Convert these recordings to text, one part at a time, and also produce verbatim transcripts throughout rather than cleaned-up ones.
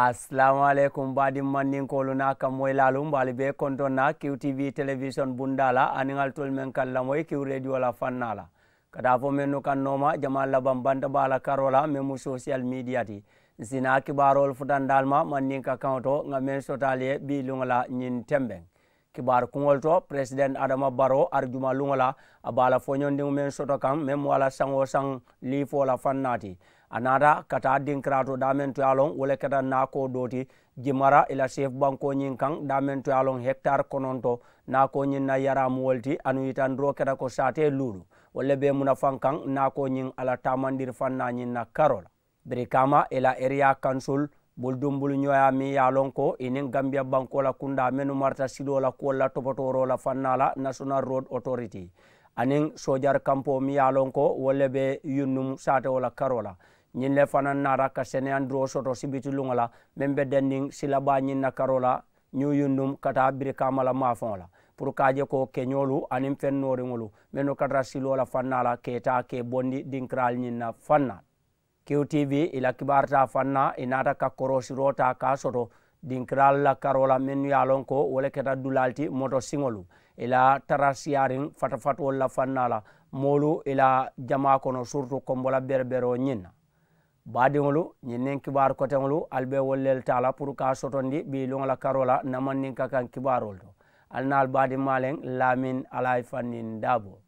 Asalaamu aleykum baadiŋ mandinkoolu naa kammoyilaalu, mbe ali bee kontoŋ na kiw tv telewisoŋ bundaa la aniŋ ali tolu meŋ ka lamoyi kiw reediyo la fannaa la, ka taa fo mennu kaŋ nooma jamaa labaŋ banta baa la karoo la meŋ mu sosiyal miidiya ti. Ǹ si naa kibaaroolu futandi ali ma mandinka kaŋo to ŋà meŋ soto ali ye bii luŋo la ñiŋ tembeŋ. Kibaaru kuŋolu to, peresidenti adama baroo arijuma luŋo la, a be a la foñondiŋo meŋ soto kaŋ meŋ mu a la saŋ-wo-saŋ liifoo la fannaa ti. A naata ka taa dinkiraato daameŋ to ye a loŋ wo le keta naakoo doo ti jimara i la seefu bankoo ñiŋ kaŋ daameŋ to ye a loŋ hekitaari kononto. Naakoo ñiŋ na yaraamuwolu ti anuŋ yitandiroo keta ko saatee luulu, wolu le be i munafaŋ kaŋ naakoo ñiŋ a la taamandiri fannaa ñiŋ na karoo la. Birikaama i la eriyaa kansul bulu duŋ bulu ñooyaa meŋ ye a loŋ ko i niŋ gambiya bankoo la kundaa mennu marata siloo la kuwolu la topotooroo la fannaa la nasonal rood otoriti aniŋ soojari kampoo meŋ ye a loŋ ko wolu le be yunnuŋ saatewo la karoo la. Ñiŋ le fanaa naata ka seneyandiroo soto sibiti luŋo la meŋ be denniŋ silabaa ñiŋ na karoo la ñiŋ yunnuŋ ka taa birikaama la maafaŋo la puru ka a je ko keñoolu aniŋ feŋ nooriŋolu mennu ka tara siloo la fannaa la ka i taa ka i bondi dinkiraalu ñiŋ na fannaa. Kiw tv i la kibaaru taa fannaa i naata ka koroosiroo taa ka a soto dinkiraalu la karoo la mennu ye a loŋ ko wo le keta dulaalu ti moto siŋolu i la tara siyaariŋ fatafatoolu la fannaa la moolu i la jamaa kono siritu kombo la bereberoo ñiŋ na. Baadiŋolu ñiŋ niŋ kibaaru koteŋolu ali be wolu le taa la puru ka a sotondi bii luŋo la karoo la ǹ na mandinka kaŋ kibaaroolu to. Ali naa ali baadiŋ maaleŋ laamin alaayi fanniŋ daaboo.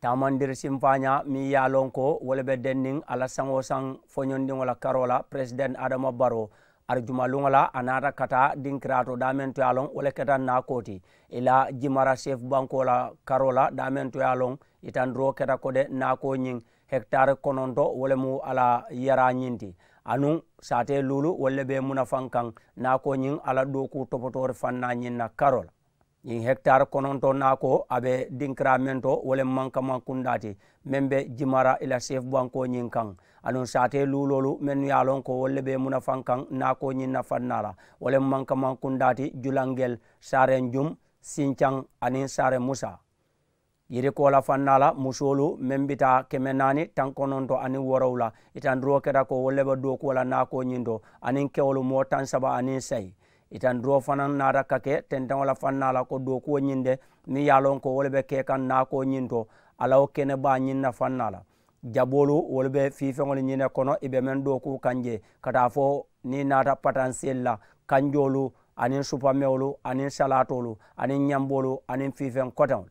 Taamandiri simfaañaa meŋ ye a loŋ ko wo le be denniŋ a la saŋ-wo-saŋ foñondiŋo la karoo la peresidenti adama baroo, arijuma luŋo la a naata ka taa dinkiraato daameŋ to ye a loŋ wo le keta naakoo ti i la jimara seefu bankoo la karoo la daameŋ to ye a loŋ yitandiroo keta ko de naakoo ñiŋ hekitaari kononto wo le mu a la yaraa ñiŋ ti. Anuŋ saatee luulu wolu le be i munafaŋ kaŋ naakoo ñiŋ a la dookuu topotoori fannaa ñiŋ na karoo la. Ñiŋ hekitaari kononto naakoo a be dinkiraa meŋ to wo le mu mankamaŋ kundaa ti meŋ be jimara i la seefu bankoo ñiŋ kaŋ. Aduŋ saatee luuloolu mennu ye a loŋ ko wolu le be i munafaŋ kaŋ naakoo ñiŋ na fannaa la wo le mu mankamaŋ kundaa ti julangel, saarenjum, sincaŋ, aniŋ saarenmusa. Yirikoo la fannaa la musoolu meŋ bita keme naani taŋ kononto aniŋ woorowula, itandiroo keta ko wolu le be dookuwo la naakoo ñiŋ to aniŋ kewolu moo taŋ saba aniŋ sayi. Itandiroo fanaŋ naata ka ke tenteŋo la fannaa la ko dookuwo ñiŋ de meŋ ye a loŋ ko wo le be ke kaŋ naakoo ñiŋ to a la wo kene baa ñiŋ na fannaa la. Jaboolu wolu be fiifeŋolu ñiŋ ne kono i be meŋ dookuu kaŋ jee ka taa fo niŋ i naata patanseli la, kanjoolu, aniŋ supamewolu, aniŋ salaatoolu, aniŋ ñamboolu, aniŋ fiifeŋ koteŋolu.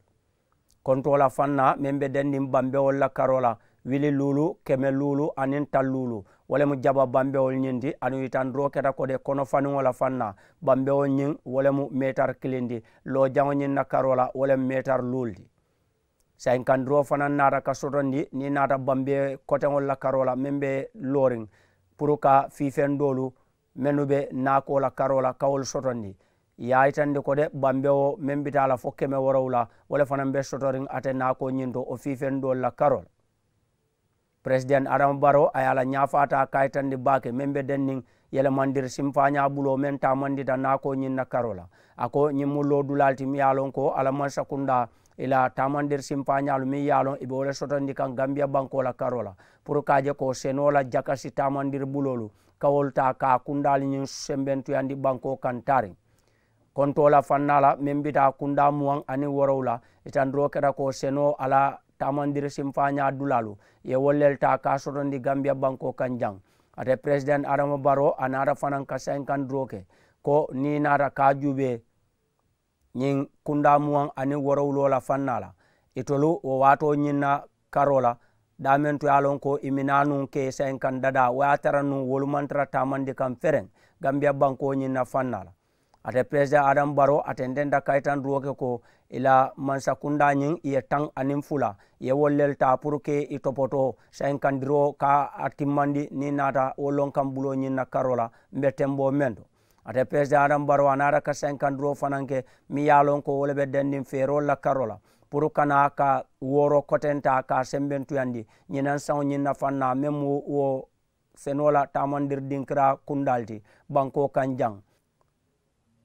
Kontoo la fannaa meŋ be dendiŋ bambewolu la karoo la, wili luulu, keme luulu, aniŋ taŋ luulu, wo le mu jaba bambewolu ñiŋ ti. Aduŋ itandiroo keta ko de konofaniŋo la fannaa, bambewolu ñiŋ wo le mu meetari kiliŋ ti. Loojaŋo ñiŋ na karoo la wo le mu meetari luulu ti. Saayiŋ kandiroo fanaŋ naata ka sotondi niŋ i naata bambee koteŋolu la karoo la meŋ be looriŋ puru ka fiifeŋ doolu mennu be naakoo la karoo la ka wolu sotondi. I ye a yitandi ko de bambewo meŋ bita a la fo keme woorowula wo le fanaŋ be sotoriŋ ate naakoo ñiŋ to wo fiifeŋ doolu la karoo la. Peresidenti adama baroo a ye a la ñaafaataa kaayitandi baake meŋ be denniŋ yelemandiri simfaañaa buloo meŋ taamandita naakoo ñiŋ na karoo la. A ko ñiŋ mu loodulaalu ti meŋ ye a loŋ ko a la mansakundaa i la taamandiri simfaañaalu meŋ ye a loŋ i be wo le sotondi kaŋ gambiya bankoo la karoo la puru ka a je ko senoo la jakasi taamandiri buloolu ka wolu taa ka a kundaalu ñiŋ sembentuyandi bankoo kaŋ taariŋ. Kontoo la fannaa la meŋ bita kundaa muwaŋ aniŋ woorowula, itandiroo keta ko senoo a la taamandiri simfaañaa dulaalu i ye wolu le taa ka a sotondi gambiya bankoo kaŋ jaŋ. Ate peresidenti adama baroo a naata fanaŋ ka saayiŋ kandiroo ke ko niŋ i naata ka a juubee ñiŋ kundaa muwaŋ aniŋ woorowuloo la fannaa la, itolu wo waatoo ñiŋ na karoo la daameŋ to ye a loŋ ko i minaa nuŋ ke saayiŋ kaŋ dadaa wo ye a tara nuŋ wolu maŋ tara taamandi kaŋ fereŋ gambiya bankoo ñiŋ na fannaa la. Ate peresidenti adama baroo a tententa kayitandiroo ke ko i la mansakundaa ñiŋ i ye taŋ aniŋ fula i ye wolu le taa puru ke i topotoo saayiŋ kandiroo ka a timmandi niŋ i naata wo loŋ kaŋ buloo ñiŋ na karoo la mbe temboo meŋ to. Ate peresidenti adama baroo a naata ka saayiŋ kandiroo fanaŋ ke meŋ ye a loŋ ko wo le be dendiŋ feeroolu la karoo la puru ka naa ka wooroo kotentaa ka a sembentuyandi ñinaŋ saŋo ñiŋ na fannaa meŋ mu wo senoo la taamandiri dinkiraa kundaalu ti bankoo kaŋ jaŋ.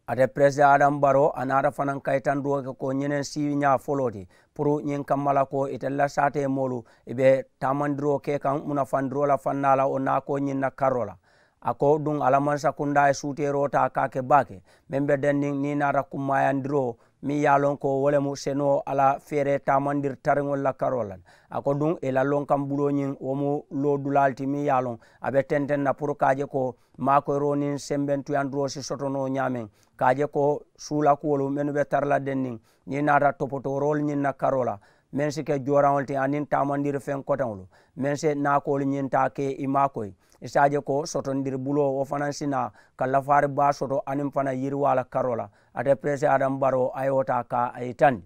Ate peresidaŋ adamu baroo a naata fanaŋ kayitandiroo ke ko ñineŋ siiñaa foloo ti puru ñiŋ kamma la ko itelu la saatee moolu i be taamandiroo ke kaŋ munafandiroo la fannaa la wo naakoo ñiŋ na karoo la. A ko duŋ a la mansakundaa ye suuteeroo taa ka a ke baake meŋ be denniŋ niŋ i naata kummaayandiroo meŋ ye a loŋ ko wo le mu senoo a la feeree taamandiri tariŋolu la karoo la. A ko duŋ i la lonkaŋ buloo ñiŋ wo mu loo dulaalu ti meŋ ye a loŋ a be tenteŋ na puru ka a je ko maakoyiroo niŋ sembentuyandiroo si soto noo ñaameŋ ka a je ko suulakuwolu mennu be tara la denniŋ niŋ i naata topotooroolu ñiŋ na karoo la meŋ si ke jooraŋolu ti aniŋ taamandiri feŋ koteŋolu meŋ si naakoolu ñiŋ taa ke i maakoyi. I si a je ko sotondiri buloo wo fanaŋ si naa ka lafaari baa soto aniŋ fanaŋ yiriwaa la karoo la. Ate peresidaŋ adamu baroo a ye wo taa ka a yitandi.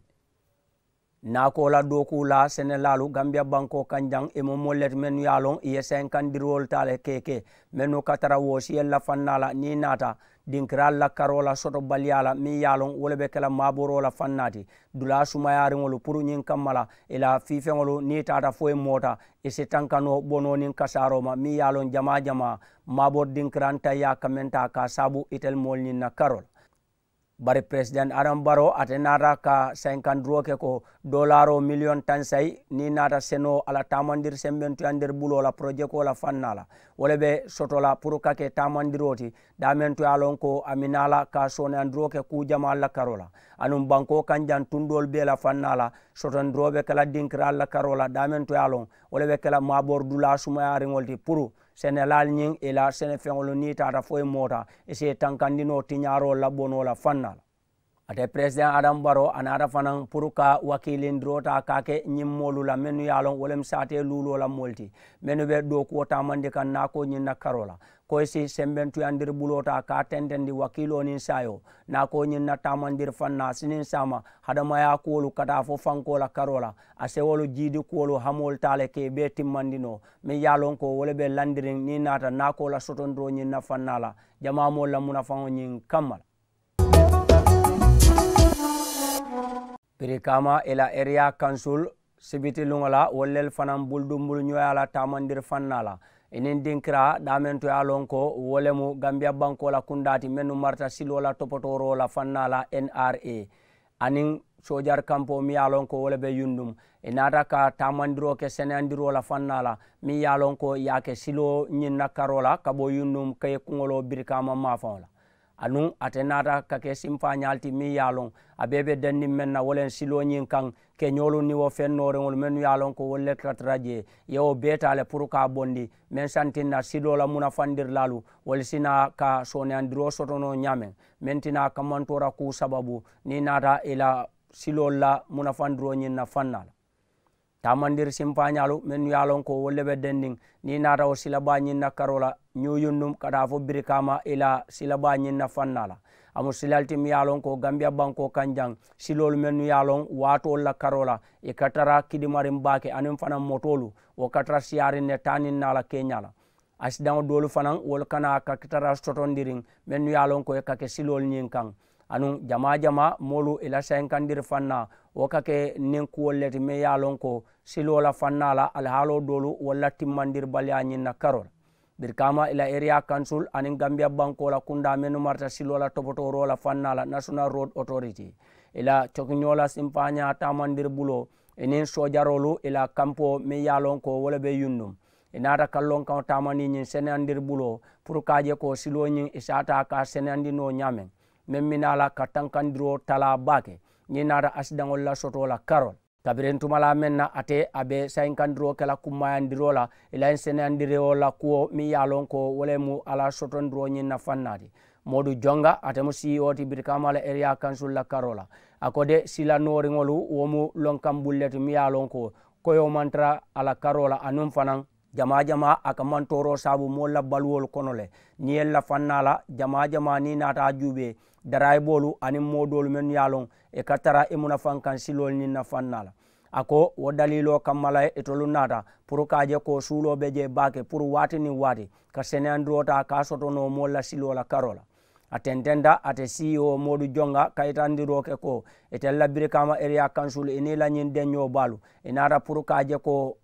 Naakoo la dookuu la senelaalu gambiya bankoo kaŋ jaŋ i mu moolu le ti mennu ye a loŋ i ye senkandiroolu taa le ke ke mennu ka tara woo siyolu la fannaa la niŋ i naata dinkiraalu la karoo la sotobaliyaa la meŋ ye a loŋ wo le be ke la maaboroo la fannaa ti dulaa sumayaariŋolu puru ñiŋ kamma la i la fiifeŋolu niŋ i taata fo i moota i si tanka noo bonoo niŋ kasaaroo ma meŋ ye a loŋ jamaa jamaa maabori dinkiraŋ tayyaa ka meŋ taa ka a saabu itelu moolu ñiŋ na karoo la. Bari peresidaŋ adamu baroo ate naata ka senkandiroo ke ko doolaaroo miliyoŋ taŋ sayi niŋ i naata senoo a la taamandiri sembentuyandiri buloo la porojekoo la fannaa la wo le be soto la puru ka ke taamandiroo ti daameŋ to ye a loŋ ko a minaa la ka sooneyandiroo ke kuu jamaalu la karoo la anuŋ bankoo kaŋ jaŋ tundoolu bee la fannaa la sotondiroo be ke la dinkiraalu la karoo la daameŋ to ye a loŋ wo le be ke la maaboridulaa sumayaariŋolu ti puru senelaalu ñiŋ i la senefeŋolu niŋ i taata fo i moota i si i tankandi noo tiñaaroolu la bonoo la fannaa la. Ate peresidaŋ adamu baroo a naata fanaŋ puru ka wakiilindiroo taa ka a ke ñiŋ moolu la mennu ye a loŋ wo le mu saatee luuloo la moolu ti mennu be dookuwo taamandi kaŋ naakoo ñiŋ na karoo la ko i si sembentuyandiri buloo taa ka a tentendi wakiiloo niŋ saayoo naakoo ñiŋ na taamandiri fannaa siniŋ saama hadamayaa kuwolu ka taa fo fankoo la karoo la a sewolu jiidi kuwolu hamoolu taa le ka i bee timmandi noo meŋ ye a loŋ ko wo le be landiriŋ niŋ i naata naakoo la sotondiroo ñiŋ na fannaa la jamaa moolu la munafaŋo ñiŋ kamma la. Birikaama i la eriyaa kansul sibiti luŋo la wolu lelu fanaŋ buludumbulu ñoyaa la taamandiri fannaa la i niŋ dinkiraa daameŋ to ye a loŋ ko wo le mu gambiya bankoo la kundaa ti mennu marita siloo la topotooroo la fannaa la n r a aniŋ soojari kampoo meŋ ye a loŋ ko wo le be yundum i naata ka taamandiroo ke seneyandiroo la fannaa la meŋ ye a loŋ ko i ye a ke siloo ñiŋ na karoo la ka bo yundum ka ye kuŋoloo birikaama maafaŋo la. Anuŋ ate naata ka ke simpaañaalu ti meŋ ye a loŋ a bee be denniŋ meŋ na wo le siloo ñiŋ kaŋ keñoolu niŋ wo feŋ nooriŋolu mennu ye a loŋ ko wolu le ka tara jee i ye wo bee taa le puru ka a bondi meŋ santiŋ na siloo la munafandirilaalu wolu si naa ka sooneyandiroo soto noo ñaameŋ meŋ ti naa kamantoora kuu sababu niŋ i naata i la siloolu la munafandiroo ñiŋ na fannaa la. Taamandiri simpaañaalu mennu ye a loŋ ko wolu le be denniŋ niŋ i naata wo silabaa ñiŋ na karoo la ñuuyundum ka taa fo birikaama i la silabaa ñiŋ na fannaa la a mu silali ti meŋ ye a loŋ ko gambiya bankoo kaŋ jaŋ siloolu mennu ye a loŋ waatoolu la karoo la i ka tara kidimariŋ baake aniŋ fanaŋ motoolu wo ka tara siyaariŋ ne taa niŋ naa la keeñaa la. Asidaŋo doolu fanaŋ wolu kana ka tara sotondiriŋ mennu ye a loŋ ko i ka ke siloolu ñiŋ kaŋ anuŋ jamaa jamaa moolu i la sayinkandiri fannaa wo ka ke niŋ kuwolu le ti meŋ ye a loŋ ko siloo la fannaa la alihaaloo doolu wolu la timmandiribaliyaa ñiŋ na karoo la. Birikaama i la eriyaa kansul aniŋ gambiya bankoo la kundaa mennu marita siloo la topotooroo la fannaa la national road authority i la cokiñoo la simpaañaa taamandiri buloo i niŋ soojaroolu i la kampoo meŋ ye a loŋ ko wo le be yundum i naata kallonkaŋo taamandi ñiŋ seneyandiri buloo puru ka a je ko siloo ñiŋ i si a taa ka a seneyandi noo ñaameŋ meŋ mi naa la ka tankandiroo talaa baake ñiŋ naata asidaŋolu la sotoo la karoo la. Kabiriŋ tumalaa meŋ na ate a be sayinkandiroo ke la kummaayandiroo la i la ñiŋ seneyandiroo la kuwo meŋ ye a loŋ ko wo le mu a la sotondiroo ñiŋ na fannaa ti. Moodu jonga ate mu siiyoo ti birikaama la eriyaa kansul la karoo la a ko de sila nooriŋolu wo mu lonkaŋ bulu le ti meŋ ye a loŋ ko koyoo maŋ tara a la karoo la anuŋ fanaŋ jamaa jamaa a ka mantooroo saabu moolu la baluwolu kono le. Niŋ i ye lafannaa la jamaa jamaa niŋ i naata a juubee daraayiboolu aniŋ moo doolu mennu ye a loŋ i ka tara i munafaŋ kaŋ siloolu niŋ nafannaa la. A ko wo daliiloo kamma la itolu naata puru ka a je ko suuloo be jee baake puru waati niŋ waati ka seneyandiroo taa ka a soto noo moolu la siloo la karoo la. A tententa ate siiwo moodu jonga kayitandiroo ke ko itelu la birikaama eriyaa kansul i niŋ i la ñiŋ deñoo baalu i naata puru ka a je ko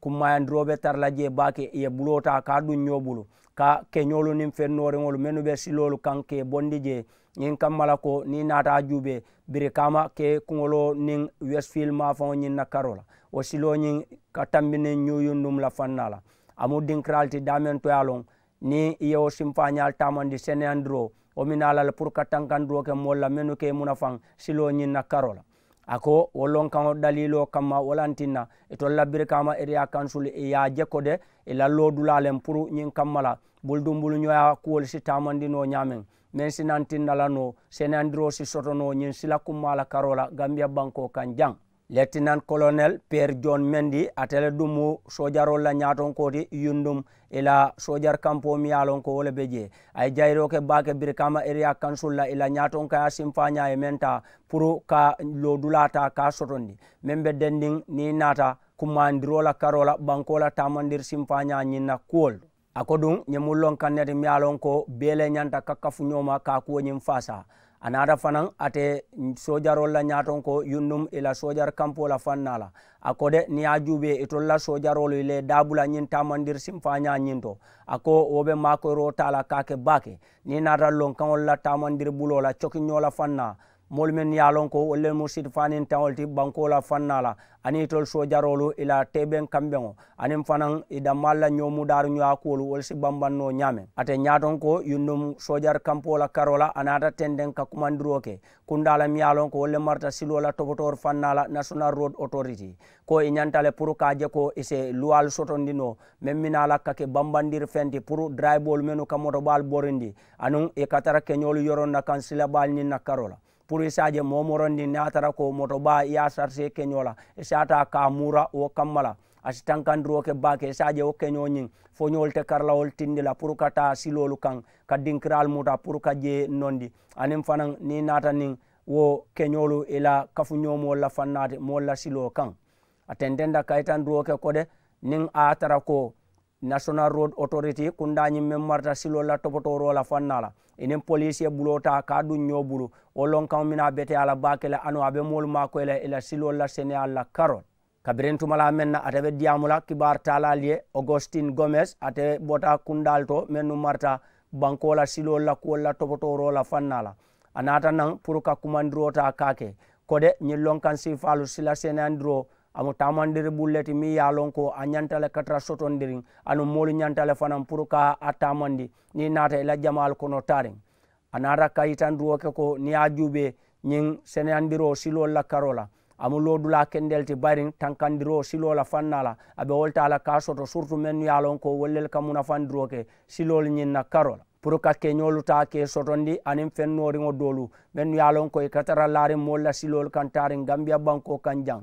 kummaayandiroo be tara la jee baake i ye buloo taa ka a duŋ ñoo bulu ka keñoolu niŋ feŋ nooriŋolu mennu be siloolu kaŋ ka i bondi jee Ñiŋ kamma la ko niŋ i naata a juubee, birikaama ke kuŋoloo niŋ westfield maafaŋo ñiŋ na karoo la, wo siloo ñiŋ ka tambi niŋ ñuu yundum la fannaa la. A mu dinkiraalu ti daameŋ to ye a loŋ niŋ i ye wo simfaañaalu taamandi seneyandiroo, wo minaa la le puru ka tankandiroo ke moolu la mennu ka i munafaŋ siloo ñiŋ na karoo la. A ko wo lonkaŋo daliiloo kamma wo lantinna itolu la birikaama eriya kansulu i ye a je ko de, i la loodulaa le puru ñiŋ kamma la buludumbuluñooyaa kuwolu si taamandi noo ñaameŋ, meŋ si nantinna la noo seneyandiroo si soto noo ñiŋ sila kummaa la karoo la gambiya bankoo kaŋ jaŋ. Letinan kolonel piyeer joon mendi ate le duŋ mu soojaroolu la ñaatonkoo ti yundum i la soojari kampoo miŋ ye a loŋ ko wo le be jee. A ye jayiroo ke baake birikaama eriya kansul la i la ñaatonkaya simfaañaa ye meŋ taa puru ka loodulaa taa ka a sotondi meŋ be dendiŋ niŋ i naata kumaandiroo la karoo la bankoo la taamandiri simfaañaa ñiŋ na kuwolu. A ko duŋ ñiŋ mu loŋ kaŋ ne ti miŋ ye a loŋ ko bee le ñanta ka kafu ñoo ma ka a kuwo ñiŋ faasaa. A naata fanaŋ ate soojaroolu la ñaatoŋ ko yundum i la soojari kampoo la fannaa la. A ko de niŋ ye a juubee itolu la soojaroolu i la i daabula ñiŋ taamandiri simfaañaa ñiŋ to. A ko wo be maakoyiroo taa la ka a ke baake niŋ i naata loŋ kaŋolu la taamandiri buloo la cokiñoo la fannaa. Moolu mennu ye a loŋ ko wolu le mu sitifaaniŋ taŋolu ti bankoo la fannaa la aniŋ itolu soojaroolu i la teebeŋ kambeŋo aniŋ fanaŋ i dammaalu la ñoo mudaari ñoyaa kuwolu wolu si bambaŋ noo ñaameŋ. Ate ñaatoŋ ko yundum soojari kampoo la karoo la a naata tenteŋ ka kumandiroo ke kundaa la miŋ ye a loŋ ko wolu le marata siloo la topotoori fannaa la nasonal road otoriti, ko i ñanta le puru ka a je ko i si luwaalu sotondi noo meŋ minaa la ka ke bambandiri feŋ ti puru darayiboolu mennu ka motobaalu borindi aniŋ i ka tara keñoolu yoroŋ na kaŋ silabaalu ñiŋ na karoo la. Puru i si a je moo morondi niŋ a tara ko moto baa i ye a sarisee keñoo la i si a taa ka a muura wo kamma la. A si tankandiroo ke baake i si a je wo keñoo ñiŋ foñoolu te kari la wolu tindi la puru ka taa siloolu kaŋ ka dinkiraalu muta puru ka jee nondi aniŋ fanaŋ niŋ i naata niŋ wo keñoolu i la kafuñoomoolu la fannaati moolu la siloo kaŋ. A tententa kayitandiroo ke ko de niŋ a ye a tara ko nasonal road otoriti kundaa ñiŋ meŋ marata siloolu la topotooroo la fannaa la i niŋ poliisi ye buloo taa ka a duŋ ñoo bulu wo lonkaŋo minaa beteyaa la baake le anu a be moolu maakoyi la i la siloolu la seneyaalu la karoo la. Kabiriŋ tumalaa meŋ na ate be diyaamu la kibaari taalaalu ye augustin gomes ate bota kundaalu to mennu marata bankoo la siloolu la kuwolu la topotooroo la fannaa la. A naata naŋ puru ka kumandiroo taa ka a ke ko de ñiŋ lonkaŋ siifaalu sila seneyandiroo a mu taamandiri bulu le ti meŋ ye a loŋ ko a ñanta le ka tara sotondiriŋ anuŋ moolu ñanta le fanaŋ puru ka a taamandi niŋ i naata i la jamaalu kono taariŋ. A naata ka yitandiroo ke ko niŋ ye a juubee ñiŋ seneyandiroo siloolu la karoo la a mu loodulaa kendelu ti bayiriŋ tankandiroo siloo la fannaa la a be wo le taa la ka a soto siritu mennu ye a loŋ ko wolu lelu ka munafandiroo ke siloolu ñiŋ na karoo la puru ka keñoolu taa ka i sotondi aniŋ feŋ nooriŋo doolu mennu ye a loŋ ko i ka tara laariŋ moolu la siloolu kaŋ taariŋ gambiya bankoo kaŋ jaŋ.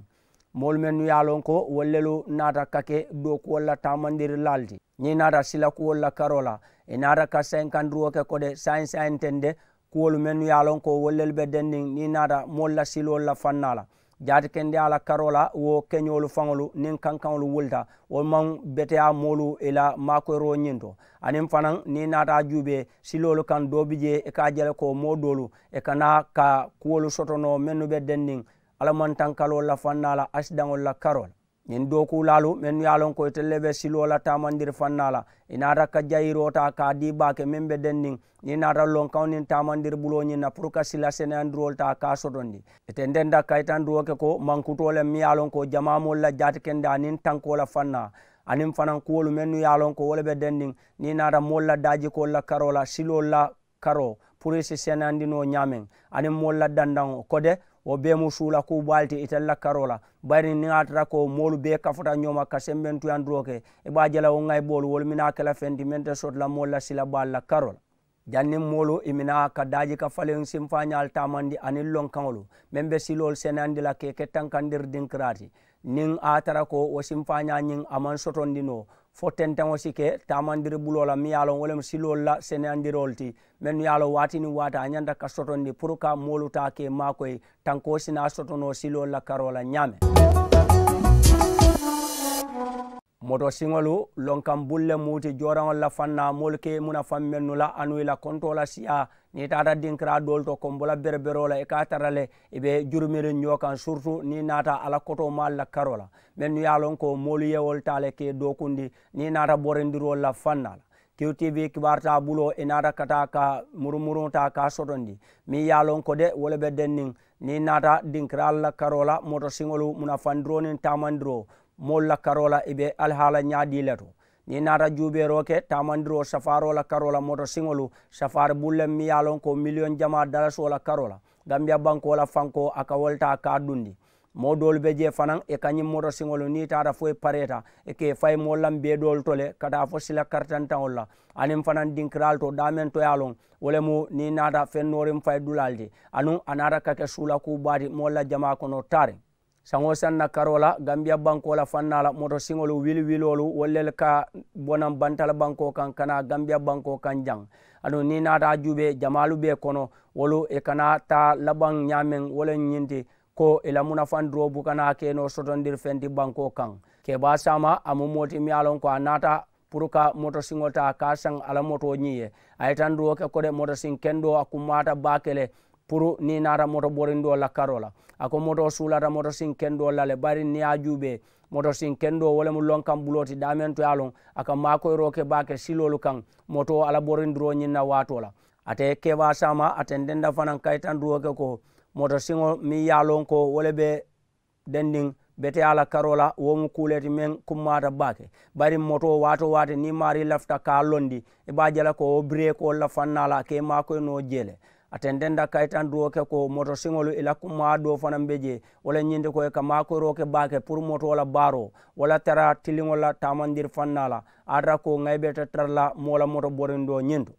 Moolu mennu ye a loŋ ko wolu lelu naata ka ke dookuwolu la taamandirilaalu ti ñiŋ naata silakuwolu la karoo la i naata ka senkandiroo ke ko de saayiŋ saayiŋ teŋ de kuwolu mennu ye a loŋ ko wolu lelu be denniŋ niŋ i naata moolu la siloolu la fannaa la. Jaati kendeyaa la karoo la wo keñoolu faŋolu niŋ kankaŋolu wulita wo maŋ beteyaa moolu i la maakoyiroo ñiŋ to. Aniŋ fanaŋ niŋ i naata a juubee siloolu kaŋ doo bi jee i ka a je le ko moo doolu i ka naa ka kuwolu soto noo mennu be denniŋ alamantankaloolu la fannaa la asidaŋolu la karoo la. Ñiŋ dookuulaalu mennu ye a loŋ ko itelu le be siloo la taamandiri fannaa la i naata ka jayiroo taa ka a dii baake meŋ be denniŋ niŋ i naata lonkaŋo niŋ taamandiri buloo ñiŋ na puru ka sila seneyandiroolu taa ka a sotondi. Ite nte nte a kayitandiroo ke ko mankutoo le meŋ ye a loŋ ko jamaa moolu la jaati kendeyaa niŋ tankoo la fannaa aniŋ fanaŋ kuwolu mennu ye a loŋ ko wo le be denniŋ niŋ i naata moolu la daajikoolu la karoo la siloolu la karoo puru i si seneyandi noo ñaameŋ aniŋ moolu la dandaŋo ko de wo bee mu suula kuu baalu ti itelu la karoo la. Bayiri niŋ a tara ko moolu bee kafuta ñoo ma ka sembentuyandiroo ke i be a je la wo ŋayiboolu wolu minaa ke la feŋ ti meŋ te soto la moolu la sila baalu la karoo la. Janniŋ moolu i minaa ka daaji ka faliŋ simfaañaalu taamandi aniŋ lonkaŋolu meŋ be siloolu seneyandi la ka i ke tankandiri dinkiraa ti. Niŋ a ye a tara ko wo simfaañaa ñiŋ a maŋ sotondi noo fo tenteŋo si ke taamandiri buloo la meŋ ye a loŋ wo le mu siloolu la seneyandiroolu ti mennu ye a loŋ waati niŋ waati a ñanta ka sotondi puru ka moolu taa ka i maakoyi tankoo si naa soto noo siloolu la karoo la ñaameŋ. Moto siŋolu lonkaŋ bulu le mu ti jooraŋolu la fannaa moolu ka i munafaŋ mennu la anuŋ i la kontoo la siyaa niŋ i taata dinkiraa doolu to kombo la bereberoo la i ka a tara le i be jurumiriŋ ñoo kaŋ siritu niŋ i naata a la kotoo maalu la karoo la mennu ye a loŋ ko moolu ye wolu taa le ka i dookundi niŋ i naata borindiroolu la fannaa la. Q T V kibaaru taa buloo i naata ka taa ka murumuruŋo taa ka a sotondi. Meŋ ye a loŋ ko de wo le be denniŋ niŋ i naata dinkiraalu la karoo la motosiŋolu munafandiroo niŋ taamandiroo moolu la karoo la i be alihaala ñaadii le to. Niŋ i naata juubeeroo ke taamandiroo safaaroo la karoo la motosiŋolu safaari bulu le meŋ ye a loŋ ko miliyoŋ jamaa dalasoo la karoo la gambiya bankoo la fankoo a ka wo le taa ka a dundi. Moo doolu be jee fanaŋ i ka ñiŋ motosiŋolu niŋ i taata fo i pareeta i ka i fayi moolu la mbeedoolu to le ka taa fo sila karitantaŋolu la aniŋ fanaŋ dinkiraalu to daameŋ to ye a loŋ wo le mu niŋ i naata feŋ nooriŋ fayi dulaalu ti anuŋ a naata ka ke suula kuu baa ti moolu la jamaa kono taariŋ. Saŋo saŋ na karoo la gambiya bankoo la fannaa la motosiŋolu wili wiloolu wolu le ka bonaŋ bantala bankoo kaŋ ka naa gambiya bankoo kaŋ jaŋ. Aduŋ niŋ i naata a juubee jamaalu bee kono wolu i kana taa labaŋ ñaameŋ wo le ñiŋ ti ko i la munafandiroo buka naa ke noo sotondiri feŋ ti bankoo kaŋ. Kebaa saama a mu moo ti miŋ ye a loŋ ko a naata puru ka motosiŋo taa ka a saŋ a la motoo ñiŋ ye. A ye tanduwo ke ko de motosiŋ kendoo a kummaata baake le puru niŋ i naata moto borindoo la karoo la. A ko motoo suulata motosiŋ kendoo la le bari niŋ i ye a juubee motosiŋ kendoo wo le mu lonkaŋ buloo ti daameŋ to ye a loŋ a ka maakoyiroo ke baake siloolu kaŋ motoo a la borindiroo ñiŋ na waatoo la. Ate kebaa saama a tententa fanaŋ ka i tanduwo ke ko motosiŋo meŋ ye a loŋ ko wo le be dendiŋ beteyaa la karoo la wo mu kuu le ti meŋ kummaata baake. Bari motoo waatoo waati niŋ i maarii lafita ka a londi i be a je la ko wo bireekoolu la fannaa la a ka i maakoyi noo jee le. A tententa kayitandiroo ke ko motosiŋolu i la kummaa doo fanaŋ be jee wo le ñiŋ ti ko i ka maakoyiroo ke baake puru motoo la baaroo wo la tara tiliŋolu la taamandiri fannaa la. A tara ko ŋa i be te tara la moo la moto borindoo ñiŋ to.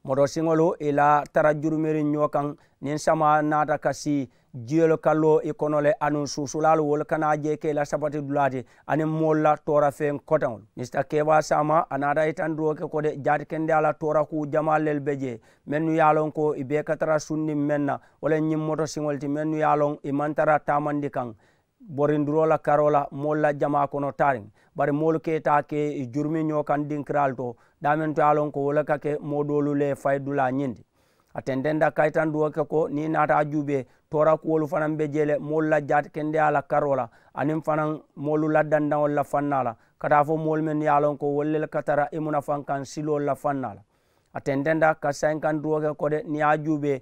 Motosiŋolu i la tara jurumiriŋ ñoo kaŋ niŋ samaa naata ka sii jiyolu ka loo i kono le anuŋ suusulaalu wolu kana a je ke i la sapati dulaa ti aniŋ moolu la toora feŋ koteŋolu misita kebaa saama a naata yitandiroo ke ko de jaati kendeyaa la toora kuu jamaa lelu be jee mennu ye a loŋ ko i bee ka tara sundiŋ meŋ na wo le ñiŋ motosiŋolu ti mennu ye a loŋ i maŋ tara taamandi kaŋ borindiroo la karoo la moolu la jamaa kono taariŋ. Bari moolu ka i taa ke i jurumi ñoo kaŋ dinkiraalu to daameŋ to ye a loŋ ko wo le ka ke moo doolu le fayi dulaa ñiŋ ti. A tententa kayitandiwo ke ko niŋ i naata a juubee toora kuwolu fanaŋ be jee le moolu la jaati kendeyaa la karoo la aniŋ fanaŋ moolu la dandaŋolu la fannaa la ka taa fo moolu mennu ye a loŋ ko wolu le ka tara i munafaŋ kaŋ siloolu la fannaa la. A tententa ka sayinkandiwo ke ko de niŋ i ye a juubee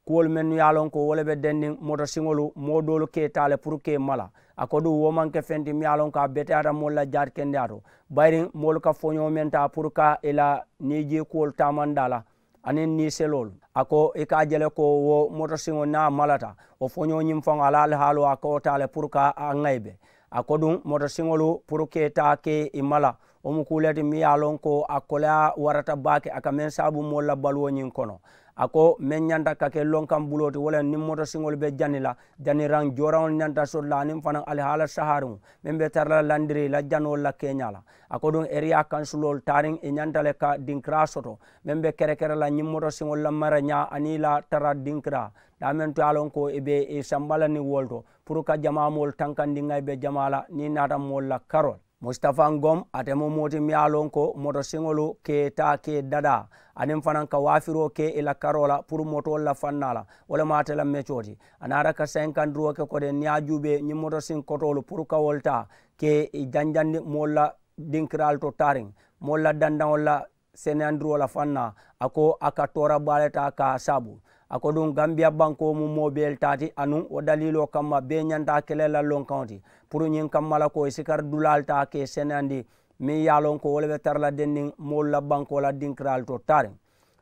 kuwolu mennu ye a loŋ ko wo le be denniŋ motosiŋolu moo doolu ka i taa le puru ka i mala. A ko duŋ wo maŋ ke feŋ ti miŋ ye a loŋ ko a beteyaata moolu la jaati kendeyaa to bayiriŋ moolu ka foñoo meŋ taa puru ka i la niijii kuwolu taamandaa la aniŋ niiseloolu. A ko i ka a je le ko wo motosiŋo niŋ a malata wo foñoo ñiŋ faŋo a la alihaaloo a ka wo taa le puru ka a ŋayibe. A ko duŋ motosiŋolu puru ka i taa ka i mala wo mu kuu le ti miŋ ye a loŋ ko a koleyaa warata baake a ka meŋ saabu moolu la baluwo ñiŋ kono. A ko meŋ ñanta ka ke lonkaŋ buloo ti wo le niŋ motosiŋolu be jani la janiraŋ jooraŋolu ñanta soto la aniŋ fanaŋ alihaala sahariŋo meŋ be tara la landiri i la janoolu la keeñaa la. A ko duŋ eriyaa kansuloolu taariŋ i ñanta le ka dinkiraa soto meŋ be kerekere la ñiŋ motosiŋolu la marañaa aniŋ i la tara dinkiraa daameŋ to ye a loŋ ko i be i samba la niŋ wolu to puru ka jamaa moolu tankandi ŋa i be jamaa la niŋ i naata moolu la karoo le. Musitafa ngom ate mu moo ti miŋ ye a loŋ ko motosiŋolu ka i taa ka i dadaa aniŋ fanaŋ ka waafiroo ke i la karoo la puru motoolu la fannaa la wo le mu ate la mecoo ti. A naata ka sayinkandiroo ke ko de niŋ ye a juubee ñiŋ motosiŋ kotoolu puru ka wolu taa ka i janjandi moolu la dinkiraalu to taariŋ moolu la dandaŋolu la seneyandiroo la fannaa. A ko a ka toora baa le taa ka a saabu. A ko duŋ gambiya bankoo mu moo bee le taa ti anuŋ wo daliiloo kamma bee ñanta a ke le la lonkaŋo ti puru ñiŋ kamma la ko i si kari dulaalu taa ka i seneyandi meŋ ye a loŋ ko wo le be tara la denniŋ moolu la bankoo la dinkiraalu to taariŋ.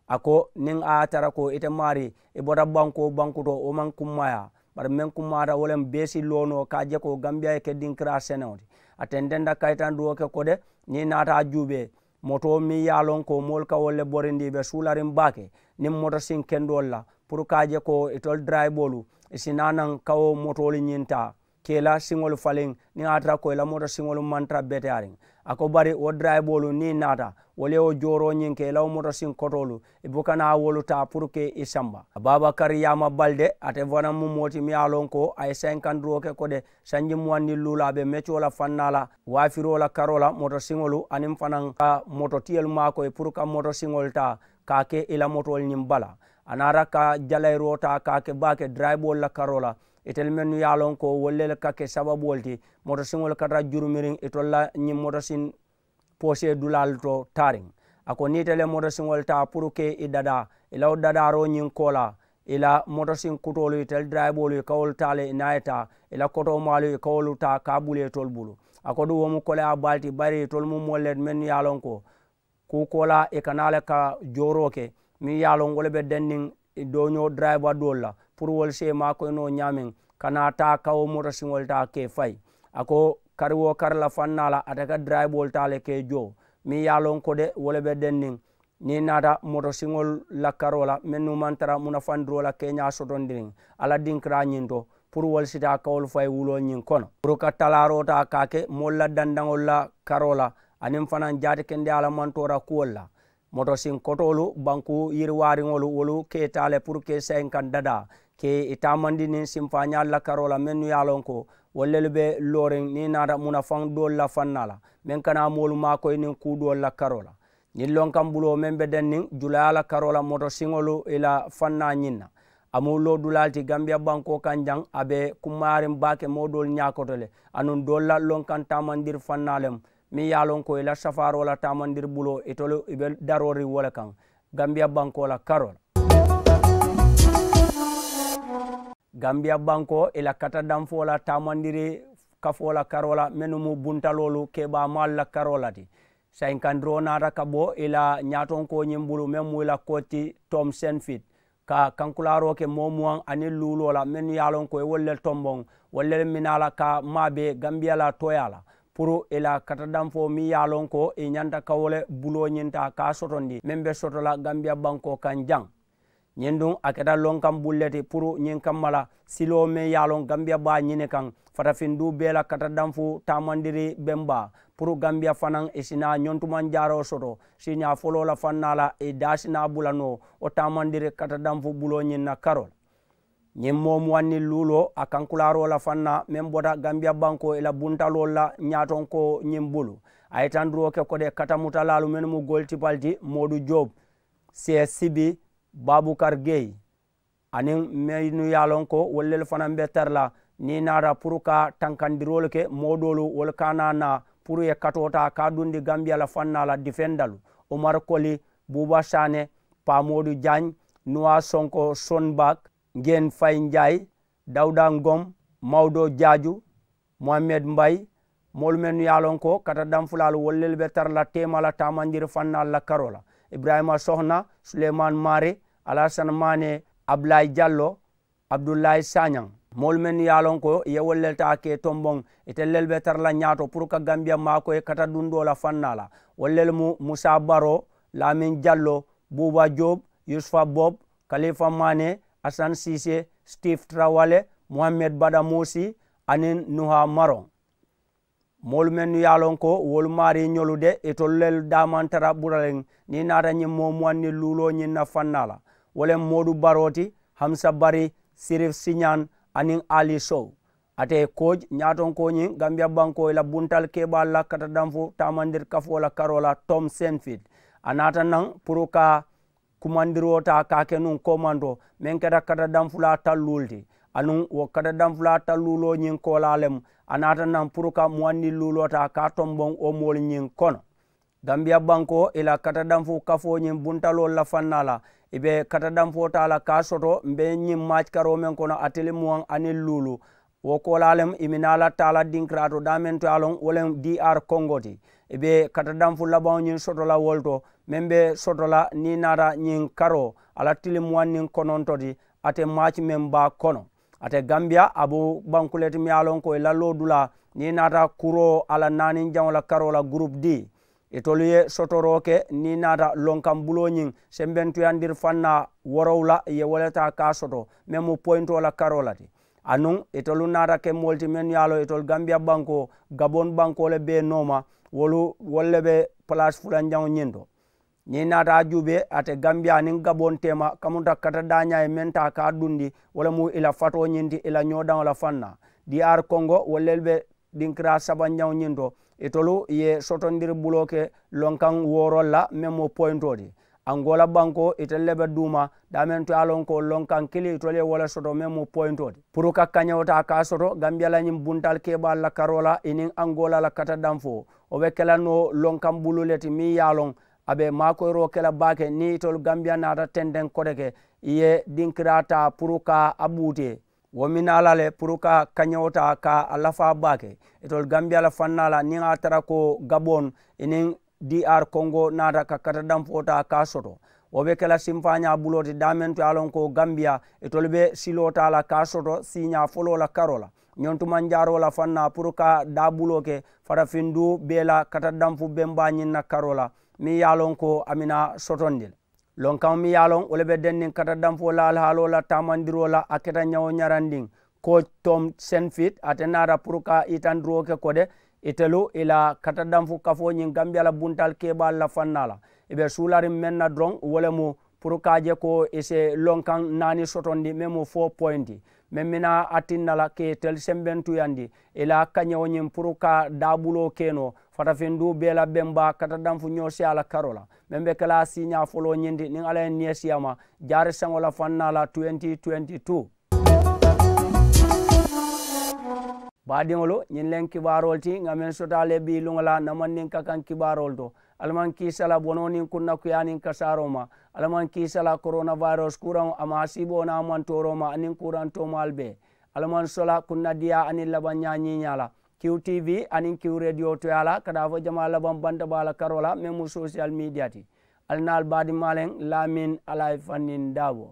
A ko niŋ a ye a tara ko ite maarii i bota bankoo bankuto wo maŋ kummaayaa bari meŋ kummaata wo le mu bee si loo noo ka a je ko gambiya ye ke dinkiraa senewo ti. A tententa kayitandiwo ke ko de niŋ i naata a juubee motoo meŋ ye a loŋ ko moolu ka wolu le borindi i be suulariŋ baake niŋ motosiŋ kendoolu la puru ka a je ko itolu darayiboolu i si naa naŋ ka wo motoolu ñiŋ taa ka i la siŋolu faliŋ niŋ a ye a tara ko i la motosiŋolu maŋ tara beteyaariŋ. A ko bari wo darayiboolu niŋ i naata wolu ye wo jooroo ñiŋ ke i la wo motosiŋ kotoolu i buka naa wolu taa puru ka i samba. Baabakari yaama bali de ate fanaŋ mu moo ti miŋ ye a loŋ ko a ye sayinkandiroo ke ko de sanji muwaŋ niŋ luulaa be mecoo la fannaa la waafiroo la karoo la motosiŋolu aniŋ fanaŋ ka mototiyolu maakoyi puru ka motosiŋolu taa ka a ke i la motoolu ñiŋ bala. A naata ka jalayiroo taa ka a ke baake darayiboolu la karoo la itelu mennu ye a loŋ ko wolu le ka ke sababuwolu ti motosiŋolu ka tara jurumiriŋ itolu la ñiŋ motosiŋ poosee dulaalu to taariŋ. A ko niŋ ite le motosiŋolu taa puru ke i dadaa i la wo dadaaroo ñiŋ koolaa, i la motosiŋ kutoolu itelu darayiboolu i ka wolu taa le i niŋ a ye taa i la kotoomaalu i ka wolu taa ka a bulu itolu bulu. A ko duŋ wo mu koleyaa baa le ti bari itolu mu moolu le ti mennu ye a loŋ ko kuu koolaa i ka naa le ka jooroo ke meŋ ye a loŋ wo le be denniŋ dooñoo darayiba doolu la puru wolu si i maakoyi noo ñaameŋ ka naa taa ka wo motosiŋolu taa ka i fayi. A ko kari woo kari la faŋ naa la ate ka darayiboolu taa le ka i joo meŋ ye a loŋ ko de wo le be denniŋ niŋ i naata motosiŋolu la karoo la mennu maŋ tara munafandiroo la keeñaa sotondiriŋ alla dinkiraa ñiŋ to puru wolu si taa ka wolu fayi wuloo ñiŋ kono puru ka talaaroo taa ka a ke moolu la dandaŋolu la karoo la aniŋ fanaa jaati kendeyaa la mantoora kuwolu la. Motosiŋ kotoolu bankuu yiriwaariŋolu wolu ke i taa le puru ka i sayinkaŋ dadaa ka i taamandi niŋ sinfaañaalu la karoo la mennu ye a loŋ ko wolu lelu be looriŋ niŋ i naata munafaŋ doolu la faŋ naa la meŋ ka naa moolu maakoyi niŋ kuu doolu la karoo la. Ñiŋ lonkaŋ buloo meŋ be denniŋ julayaa la karoo la motosiŋolu i la faŋ naa ñiŋ na a mu loodulaa le ti gambiya bankoo kaŋ jaŋ a be kummaariŋ baake moo doolu ñaakoto le anuŋ doolu la lonkaŋ taamandiri faŋ naa le mu meŋ ye a loŋ ko i la safaaroo la taamandiri buloo itolu i be darooriŋ wo le kaŋ gambiya bankoo la karoo la. Gambiya bankoo i la katadanfoo la taamandiri kafoo la karoo la mennu mu buntaloolu keebaamaalu la karoo la ti sayinkandiroo naata ka bo i la ñaatonkoo ñiŋ bulu meŋ mu i la kooti tom senfit ka kankulaaroo ke moo muwaŋ aniŋ luuloo la mennu ye a loŋ ko i wolu le tomboŋ wolu le minaa la ka maabee gambiya la tooyaa la puru i la katadanfoo meŋ ye a loŋ ko i ñanta ka wo le buloo ñiŋ taa ka a sotondi meŋ be soto la gambiya bankoo kaŋ jaŋ. Ñiŋ duŋ a keta lonkaŋ bulle ti puru ñiŋ kamma la siloo meŋ ye a loŋ gambiya baa ñini kaŋ fatafinduu bee la katadanfu taamandiri bembaa puru gambiya fanaŋ i si naa ñontumanjaaroo soto siiñaa foloo la faŋ naa la i daa si naa bula noo wo taamandiri katadanfu buloo ñiŋ na karoo la. Ñiŋ moo muwaŋ niŋ luuloo a kankulaaroo la faŋ naa meŋ bota gambiya bankoo i la buntaloolu la ñaatonkoo ñiŋ bulu a ye tanduroo ke kode katamutalaalu mennu mu goolu tipali ti moodu joob, siyee sibi, baabukar geyi, aniŋ mennu ye a loŋ ko wolu lelu fanaŋ be tara la niŋ i naata puru ka tankandiroolu ke moo doolu wolu ka a naa naa puru ye katoo taa ka a dundi gambiya la faŋ naa la difendalu, umar koli, buuba saane, paamoodu jaañ, nuwaa sonko, sonbak, ngen fayi njaayi, dawuda ngom, mawdo jaaju, muhammed mbayi, moolu mennu ye a loŋ ko kata danfulaalu wolu lelu be tara la teema la taamanjiri fannaalu la karoo la, iburayima sohona, suleyimaani maari, alasani maane, abulayi jallo, abudulayi saañaŋ. Moolu mennu ye a loŋ ko i ye wolu lelu taa ka i tomboŋ itelu lelu be tara la ñaato puru ka gambiya maakoyi kata dundoo la fannaa la. Wolu lelu mu musa baro, laamin jallo, buuba joob, yusufa bob, kalifa maane, asan siise, sitif tarawale, muhammed badamuusi, aniŋ nuha maroŋ. Moolu mennu ye a loŋ ko wolu maarii ñolu de itolu lelu daamantara buraleŋ niŋ i naata ñiŋ moo muwaŋ niŋ luuloo ñiŋ na fannaa la. Wo le moodu baroo ti, hamusa bari, sirif siñaŋ, aniŋ ali sow. Ate kooj ñaatonkoo ñiŋ gambiya bankoo i la buntalu keebaalu la kata danfu taamandiri kafoo la karoo la tom senfit. A naata naŋ puru ka kumandiroo taa ka a ke nuŋ komanto meŋ keta kata danfulaa talluulu ti. Anuŋ wo kata danfulaa talluuloo ñiŋ koolaa le mu a naata naŋ puru ka muwaŋ niŋ luuloo taa ka a tomboŋ wo moolu ñiŋ kono. Gambiya bankoo i la kata danfu kafoo ñiŋ buntaloolu la fannaa la i be kata danfoo taa la ka a soto mbe ñiŋ maaci karoo meŋ kono a tili muwaŋ aniŋ luulu. Wo koolaa lem i minaa la taala dinkiraato daameŋ to ye a loŋ wo lem dr kongo ti. I be kata danfu labaŋo ñiŋ soto la wolu to meŋ be soto la niŋ i naata ñiŋ karoo a la tilimuwaŋ niŋ kononto ti. Ate maaci meŋ baa kono ate gambiya a bu banku le ti meŋ ye a loŋ ko i la loodulaa niŋ i naata kuroo a la naaniŋ jaŋo la karoo la gurupu di. Itolu ye sotoroo ke niŋ i naata lonkaŋ buloo ñiŋ sembentuyandiri fannaa worowu la i ye wo le taa ka a soto meŋ mu poyintoo la karoo la ti. Anuŋ itolu naata ke moolu ti mennu ye a loŋ itolu gambiya bankoo gaboŋ bankoo le bee nooma wolu wolu le be palaasi fulanjaŋo ñiŋ to. Niŋ i naata a juubee ate gambiya aniŋ gaboŋ teema kamuta kata daañaa ye meŋ taa ka a dundi wo le mu i la fatoo ñiŋ ti i la ñoodaŋo la fannaa. Dr kongo wolu le be dinkiraa sabanjaŋo ñiŋ to itolu ye sotondiri buloo ke lonkaŋ woorolu la meŋ mu poyintoo ti. Angola bankoo itelu le be duuma daameŋ to ye a loŋ ko lonkaŋ kiliŋ itolu ye wo le soto meŋ mu poyintoo ti puru ka kañewo taa ka a soto gambiya la ñiŋ buntaali keebaalu la karoo la i niŋ angola la kata danfoo. Wo be ke la noo lonkaŋ bulu le ti meŋ ye a loŋ A be maakoyiroo ke la baake niŋ itolu gambiya naata tenteŋ kote ke i ye dinkiraa taa puru ka a buutee. Wo minaa la le puru ka kañewo taa ka a lafaa baake. Itolu gambiya la fannaa la niŋ a tara ko gaboŋ i niŋ diyaari kongo naata ka kata danfoo taa ka a soto. Wo be ke la sinfaañaa buloo ti daameŋ to ye a loŋ ko gambiya itolu be siloo taa la ka a soto siiñaa foloo la karoo la. Ñontumanjaaroo la fannaa puru ka daabuloo ke farafinduu bee la kata danfu bembaa ñiŋ na karoo la meŋ ye a loŋ ko a mina sotondi le. Lonkaŋo meŋ ye a loŋ wo le be denniŋ kata danfoo la alihaaloo la taamandiroo la a keta ñawo ñarandiŋ. Ko tom senfit ate naata puru ka itandiroo ke kode itelu i la kata danfu kafoo ñiŋ gambiya la buntal keebaalu la fannaa la i be suulariŋ meŋ na doroŋ wo le mu puru ka a je ko i si lonkaŋ naani sotondi meŋ mu fo poyinti meŋ mina a tinna la ka i telu sembentuyandi i la kañewo ñiŋ puru ka daabuloo ke noo fatafinduu bee la bemba kata danfu ñoo si a la karoo la meŋ be ke la a siiñaa foloo ñiŋ ti niŋ alla ye niŋ ye siyama jaari saŋo la fannaa la twenty twenty two. Baadiŋolu ñiŋ leŋ kibaaroolu ti ŋa meŋ sotaa le bii luŋo la namandiŋ ka kaŋ kibaaroolu to. Alla maŋ kiisa la bonoo niŋ kunnakuyaa niŋ kasaaroo ma. Alla maŋ kiisa la koronawayirus kuraŋo a maŋ a siiboo niŋ a maŋ tooroo ma aniŋ kuraŋ toomaalu bee. Alla maŋ sola kunnadiyaa aniŋ labaŋ ñaa ñiiñaa la. Kiw tv aniŋ kiw rediyo toyaa la ka daa fo jamaa labaŋ banta baa la karoo la meŋ mu sosiyal miidiya ti. Alla naŋ ali baadimaa leŋ laamin alla ye fanniŋ daaboo.